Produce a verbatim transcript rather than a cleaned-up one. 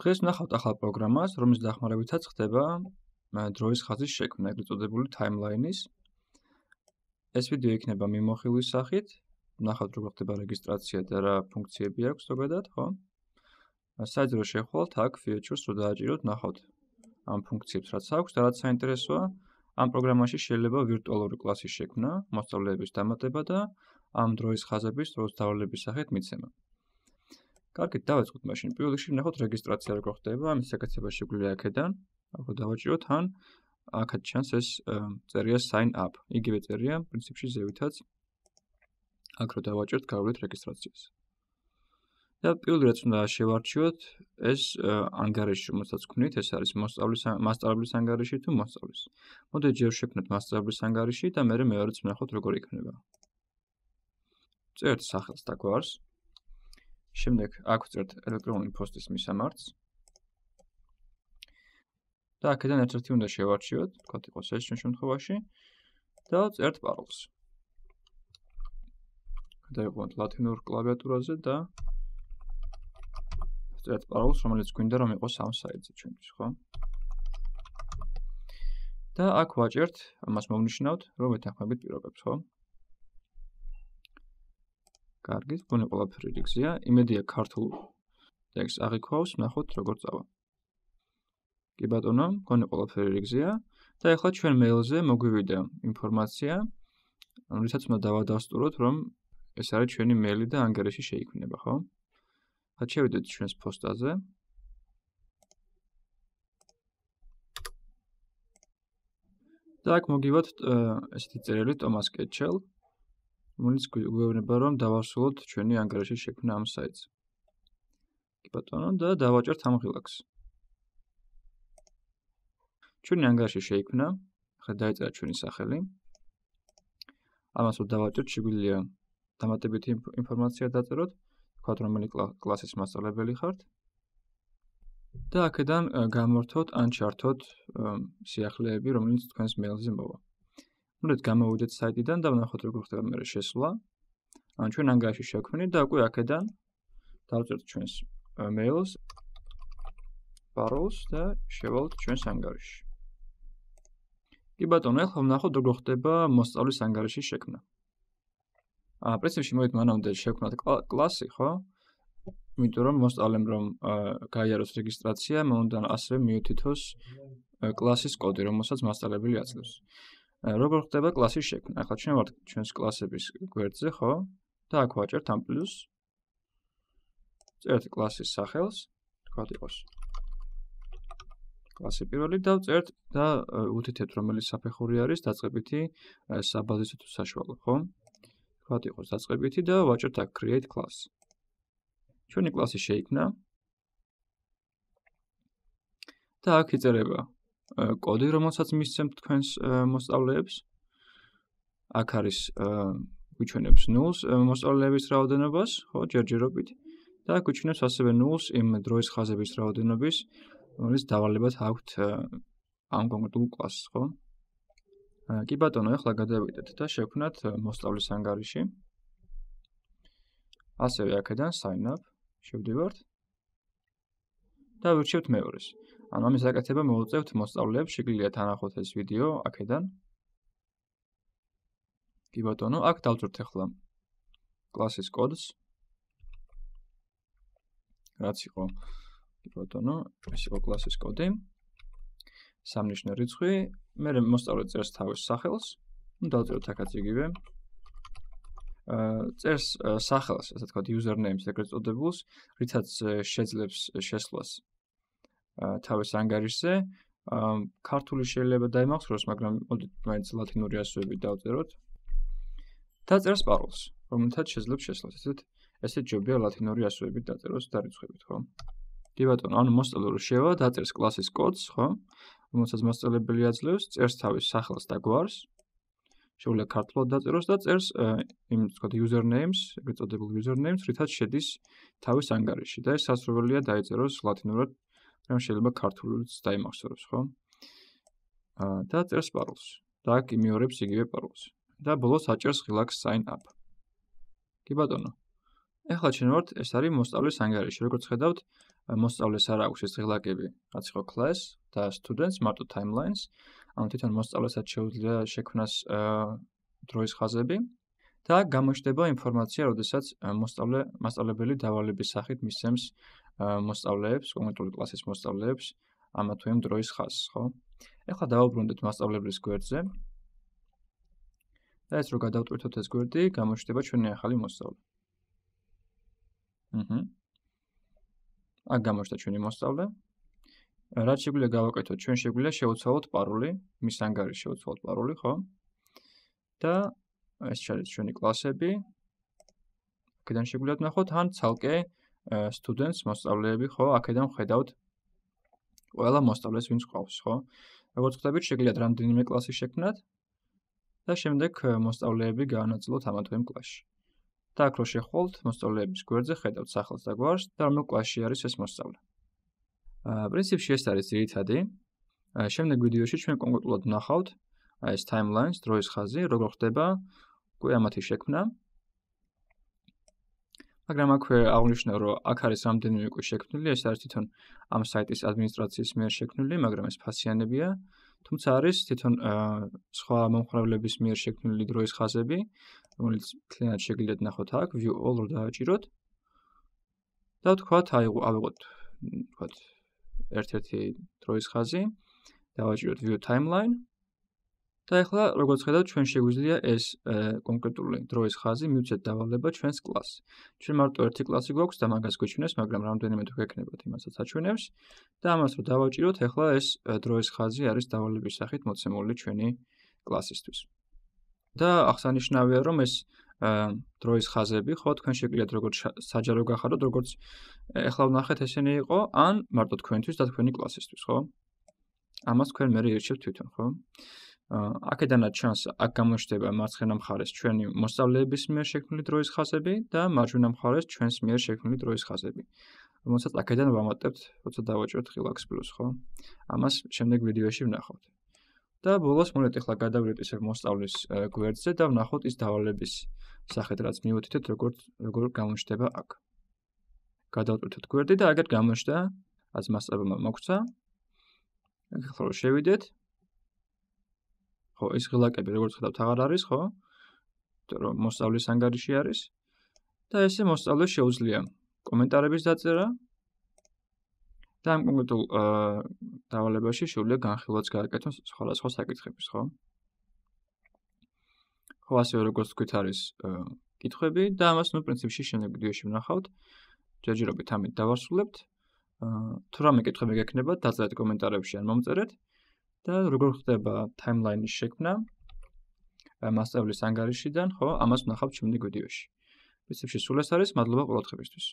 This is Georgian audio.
დღეს ვნახავთ ახალ პროგრამას, რომლის დახმარებითაც ხდება დროის ხაზის შექმნა, ეგრეთ წოდებული timeline-ის. ეს ვიდეო იქნება მიმოხილვის სახით. ვნახავთ როგორ ხდება რეგისტრაცია და რა ფუნქციები აქვს ზოგადად, ხო? საერთოდ რო შეხვალთ, აქ features რო დააჭიროთ, ვნახავთ ამ ფუნქციებს რაც აქვს და რაც საინტერესოა, ამ პროგრამაში შეიძლება ვირტუალური კლასის შექმნა, მოსწავლეების დამატება და ამ დროის ხაზების დროს დავალების სახით მიცემა. კარგით, დავაწყოთ მაშინ. პირველ რიგში ვნახოთ რეგისტრაცია როგორ ხდება, ამის საკეთება შეგვიძლია აქედან. აქ რო დავაჭიროთ, ან აქაც ჩანს ეს წერია sign up. იგივე წერია პრინციპში ზევითაც. აქ რო დავაჭიროთ, გავავლეთ რეგისტრაციას. და პირველი რაც უნდა შევარჩიოთ, ეს ანგარიში, რომელსაც ვქმნით, ეს არის მოსწავლის მასწავლებლის ანგარიში თუ მოსწავლის. მოდით ჯერ შევქმნათ მასწავლებლის ანგარიში და მერე მეორეც ვნახოთ როგორ იქნება. წერთ სახელს და გვარს. შემდეგ აქ ვწერთ ელექტრონული პოსტის მისამართს. და აქედან ერთ-ერთი უნდა შევარჩიოთ, თქვათ იყოს ეს ჩვენ შემთხვევაში და წერთ პაროლს. გადავიყვანოთ ლათინურ კლავიატურაზე და წერთ პაროლს, რომელიც გვინდა რომ იყოს ამ საიტზე ჩვენთვის, ხო? და აქ ვაჭერთ, ამას მოვნიშნავთ, რომ ვეთანხმებით პირობებს, ხო? კარგით, გონი ყველაფერი რიგზეა, იმედია ქართულ ტექსტს აღიქვავს, ვნახოთ როგორ წავა. კი ბატონო, გონი ყველაფერი რიგზეა და ახლა ჩვენ მეილზე მოგვივიდა ინფორმაცია, რითაც უნდა დავადასტუროთ, რომ ეს არის ჩვენი მეილი და ანგარიში შეიქმნება, ხო? ახლა შევიდეთ ჩვენს ფოსტაზე. და აქ მოგივათ ესეთი წერილი ტომას კეტჩელ, რომელიც გვეუბნება, რომ დავასრულოთ ჩვენი ანგარიშის შექმნა ამ საიტზე. კი ბატონო, და დავაჭერთ ამ ღილაკს. ჩვენი ანგარიში შეიქმნა, ახლა დაიწერა ჩვენი სახელი. ამას რომ დავაჭერთ, შეგვიძლია დამატებითი ინფორმაცია დაწეროთ, ვთქვათ, რომელი კლასის მასწავლებელი ხართ. და აქედან გამორთოთ ან ჩართოთ სიახლეები, რომელიც თქვენს მეილზე მოვა. მოდით გამოვიდეთ საიტიდან და ვნახოთ როგორ ხდება მერე შესვლა. ან ჩვენ ანგარიში შევქმნით და უკვე აქედან დავწერთ ჩვენს მეილს, პაროლს და შევალთ ჩვენს ანგარიში. კი ბატონო, ახლა ვნახოთ როგორ ხდება მოსწავლის ანგარიშის შექმნა. აა, პრინციპში მოდით მანამდე შევქმნათ კლასი, ხო? იმიტომ რომ მოსწავლემ რომ გაიაროს რეგისტრაცია, მან უნდა ასევე მიუთითოს კლასის კოდი, რომელსაც მასწავლებელი აძლევს. როგორ ხდება კლასის შექმნა? ახლა ჩვენ ვართ ჩვენს კლასების გვერდზე, ხო? და აქ ვაჭერთ ამ პლუს. წერთ კლასის სახელს, თქვათ იყოს კლასი პირველი და ვწერთ და უთითებთ რომელი საფეხური არის დაწყებითი საბაზისო თუ საშუალო, ხო? თქვათ იყოს დაწყებითი და ვაჭერთ აქ create class. ჩვენი კლასი შეიქმნა. და აქ იწერება კოდი, რომელსაც მისცემთ თქვენს მოსწავლეებს. აქ არის გვიჩვენებს ნულს მოსწავლეების რაოდენობას, ხო, ჯერჯერობით. და აქ გვიჩვენებს ასევე ნულს იმ დროის ხაზების რაოდენობის, რომელიც დავალებად აქვთ ამ კონკრეტულ კლასს, ხო? კი ბატონო, ახლა გადავიდეთ და შევქმნათ მოსწავლის ანგარიში. ასევე აქედან sign up შევდივართ და ვირჩევთ მეორეს. ანუ ამის გაკეთება მოვუწევთ მოსწავლეებს, შეგიძლიათ ანახოთ ეს ვიდეო აქედან. კი ბატონო, აქ დავწერთ ახლა კლასის კოდს. რაც იყო, კი ბატონო, ეს იყო კლასის კოდი. სამნიშნე რიცხვი, მერე მოსწავლე წერს თავის სახელს. ნუ დავწეროთ აქაც იგივე. წერს სახელს, ასე თქვა, username-ს ეგრეთ წოდებულს, რითაც შეძლებს შესვლას თავის ანგარიშზე. ქართული შეიძლება დაიმახსოვროს, მაგრამ მოდით მაინც ლათინური ასოებით დავწეროთ. და წერს პაროლს, რომელთაც შეძლებს შესვლას. ესეთ ესეთ ჯობია ლათინური ასოებით დაწეროს და რიცხვებით, ხო? კი ბატონო, ანუ მოსწავლე რო შევა, დაწერს კლასის კოდს, ხო? რომელსაც მასწავლებელი აძლევს, წერს თავის სახელს და გვარს. შეუძლია ქართულად დაწეროს და წერს იმ თქვა username-ს, ეგრეთ წოდებულ username-ს, რითაც შედის თავის ანგარიში და ეს სასურველია დაიწეროს ლათინურად, მაგრამ შეიძლება ქართულიც დაიმახსოვროს, ხო? და წერს პაროლს. და აქ იმეორებს იგივე პაროლს. და ბოლოს აჭერს ღილაკს sign up. კი ბატონო. ახლა ჩვენ ვართ, ეს არის მოსწავლის ანგარიში. როგორც ხედავთ, მოსწავლეს არ აქვს ეს ღილაკები, რაც იყო class და students მარტო timelines. ანუ თვითონ მოსწავლესაც შეუძლია შექმნას დროის ხაზები და გამოჩნდება ინფორმაცია, როდესაც მოსწავლე მასწავლებელი დავალების სახით მისცემს მოსწავლეებს, კონკრეტული კლასის მოსწავლეებს ამა თუ იმ დროის ხაზს, ხო? ეხლა დავუბრუნდეთ მასწავლებლის გვერდზე. და ეს რო გადავტვირთოთ ეს გვერდი, გამოჩნდება ჩვენი ახალი მოსწავლე. აჰა. აქ გამოჩნდა ჩვენი მოსწავლე. რაც შეგვიძლია გავაკეთოთ, ჩვენ შეგვიძლია შევცვალოთ პაროლი, მის ანგარიშში შევცვალოთ პაროლი, ხო? და ეს შევცვალოთ ჩვენი კლასები. აქედან შეგვიძლია ვნახოთ ან ცალკე students მოსწავლეები, ხო? აქედან ვხედავთ ყველა მოსწავლეს, ვინც ყავს, ხო? როგორც ხვდებით, შეგიძლიათ რამდენიმე კლასი შექმნათ და შემდეგ მოსწავლეები გაანაწილოთ ამა თუ იმ კლასში. და აქ რო შეხვალთ, მოსწავლეების გვერდზე ხედავთ სახელს და გვარს და რომელ კლასში არის ეს მოსწავლე. პრინციპში ეს არის ძირითადი. შემდეგ ვიდეოში ჩვენ კონკრეტულად ვნახავთ ეს timelines, დროის ხაზი, როგორ ხდება უკვე ამათი შექმნა. მაგრამ აქვე აღნიშნე, რომ აქ არის რამდენიმე უკვე შექმნილი, ეს არის თვითონ ამ საიტის ადმინისტრაციის მიერ შექმნილი, მაგრამ ეს ფასიანებია. თუმცა არის თვითონ სხვა მომხმარებლების მიერ შექმნილი დროის ხაზები, რომელიც მთლიანად შეგიძლიათ ნახოთ აქ, view all რო დააჭიროთ. და ვთქვათ, აი ავიღოთ, ვთქვათ, ერთ-ერთი დროის ხაზი, დავაჭიროთ view timeline. და ეხლა როგორც ხედავთ, ჩვენ შეგვიძლია ეს კონკრეტული დროის ხაზი მივცეთ დავალება ჩვენს კლასს. ჩვენ მარტო ერთი კლასი გვაქვს და მაგას გვეჩვენებს, მაგრამ რამდენიმე თუ გექნებათ, იმასაც აჩვენებს. და ამას რო დავაჭიროთ, ეხლა ეს დროის ხაზი არის დავალების სახით მოცემული ჩვენი კლასისთვის. და აღსანიშნავია, რომ ეს დროის ხაზები, ხო, თქვენ შეგიძლიათ როგორც საჯარო გახადოთ, როგორც ეხლა ვნახეთ ესენი იყო, ან მარტო თქვენთვის და თქვენი კლასისთვის, ხო? ამას თქვენ მერე ირჩევთ თვითონ, ხო? აქედანაც ჩანს, აქ გამოჩნდება მარცხენა მხარეს ჩვენი მოსწავლეების მიერ შექმნილი დროის ხაზები და მარჯვენა მხარეს ჩვენს მიერ შექმნილი დროის ხაზები. რომელსაც აქედან ვამატებთ, როცა დავაჭროთ ღილაკს პლუს, ხო? ამას შემდეგ ვიდეოში ვნახავთ. და ბოლოს მოვიდეთ ეხლა გადავიდეთ ისევ მოსწავლის გვერდზე და ვნახოთ ის დავალების სახით, რაც მივუთითეთ, როგორ როგორ გამოჩნდება აქ. გადავტვირთოთ გვერდი და აგერ გამოჩნდა, რაც მასწავლებელმა მოგცა. ეხლა რო შევიდეთ, ხო, ეს ღილაკები როგორც ხედავთ აღარ არის, ხო? იმიტომ რომ მოსწავლის ანგარიში არის და ესე მოსწავლეს შეუძლია კომენტარების დაწერა და ამ კონკრეტულ დავალებაში შეუძლია განხილვაც გააკეთოს სხვადასხვა საკითხების, ხო? ხო, ასევე როგორც თქვით არის კითხვები და ამას ნუ პრინციპში შემდეგ ვიდეოში ვნახავთ. ჯერჯერობით ამით დავასრულებთ. თუ რამე კითხვები გექნებათ, დაწერეთ კომენტარებში ან მომწერეთ. და როგორ ხდება timeline-ის შექმნა მასწავლებლის ანგარიშიდან, ხო, ამას ვნახავთ შემდეგ ვიდეოში. პრინციპში სულ ეს არის, მადლობა ყურადღებისთვის.